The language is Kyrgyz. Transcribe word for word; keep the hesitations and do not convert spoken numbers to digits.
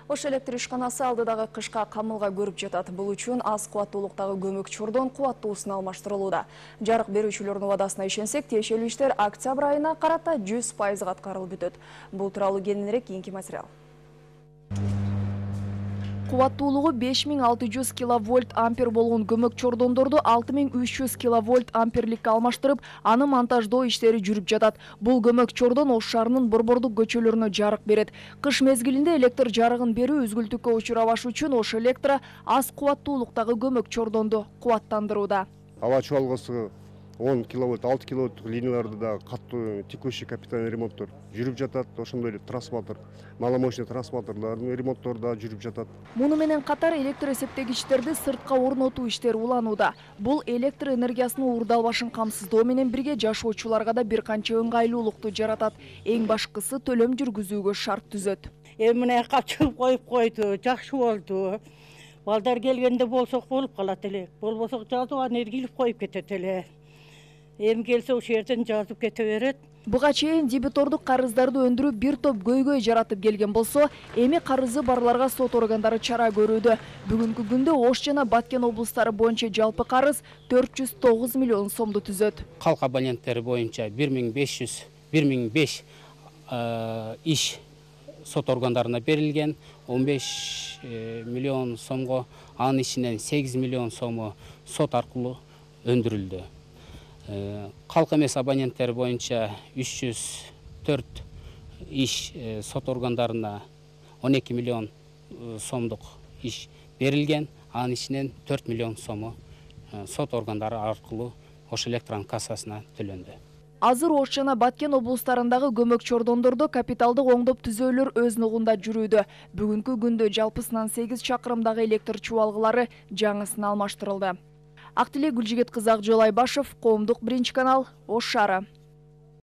Ош электр ишканасы алдыдагы кышка камылга көрүп жатат. Бул үчүн аз кубаттуулуктагы көмөк чордон кубаттуусуна алмаштырылууда. Жарык берүүчүлөрдүн убадасына ишенсек, тиешелүү иштер октябрь айына карата жүз пайызга аткарылып бүтөт. Бул тууралуу кененирээк кийинки материал. Кубаттуулугу беш миң алты жүз киловольт ампер болгон көмөк чордондорду алты миң үч жүз киловольт амперликке алмаштырып, аны монтаждоо иштери жүрүп жатат. Бул көмөк чордон Ош шаарынын борбордук көчөлөрүнө жарык берет. Кыш мезгилинде электр жарыгын берүү үзгүлтүккө учурабаш үчүн Ош электро аз кубаттуулуктагы көмөк чордонду кубаттандырууда. Аба чуалгысы он киловольт, алты киловольт линияларды да катуу текущий капитальный ремонттор жүрүп жатат. Ошондой эле трансформатор, маломощный трансформаторлордун ремонттору да жүрүп жатат. Муну менен катар электр эсептегичтерди сыртка орнотуу иштери уланууда. Бул электр энергиясынын уурдалбашын камсыздоо менен бирге жашоочуларга да бир канча ыңгайлуулукту жаратат. Эң башкысы төлөм жүргүзүүгө шарт түзөт. Эми мына капчыгып коюп койду, жакшы болду. Балдар келгенде болсок болуп калат эле. Болбосо жазып аны эргилип коюп кетет эле. Эми келсе ошол жерден жазып кете берет. Буга чейин дебитордук карыздарды өндүрүп бир топ көйгөй жаратып келген болсо, эми карызы барларга сот органдары чара көрүүдө. Бүгүнкү күндө Ош жана Баткен облустары боюнча жалпы карыз төрт жүз тогуз миллион сомду түзөт. Калк абоненттери боюнча бир миң беш жүз бир миң беш иш сот органдарына берилген, он беш миллион сомго, анын ичинен сегиз миллион сому сот аркылуу өндүрүлдү. Калк эмес абоненттери боюнча үч жүз төрт иш сот органдарына он эки миллион сомдук иш берилген, анын ичинен төрт миллион сому сот органдары аркылуу Ош электрон кассасына төлөндү. Азыр Ош жана Баткен облустарындагы көмөк чордондордо капиталдык оңдоп түзөөлөр өз нугунда жүрүүдө. Бүгүнкү күндө жалпысынан сегиз чакырымдагы электр чубалгылары жаңысына алмаштырылды. Актилек Гүлжигет кызы, Акжол Айбашев, Коомдук биринчи канал, Ош шаары.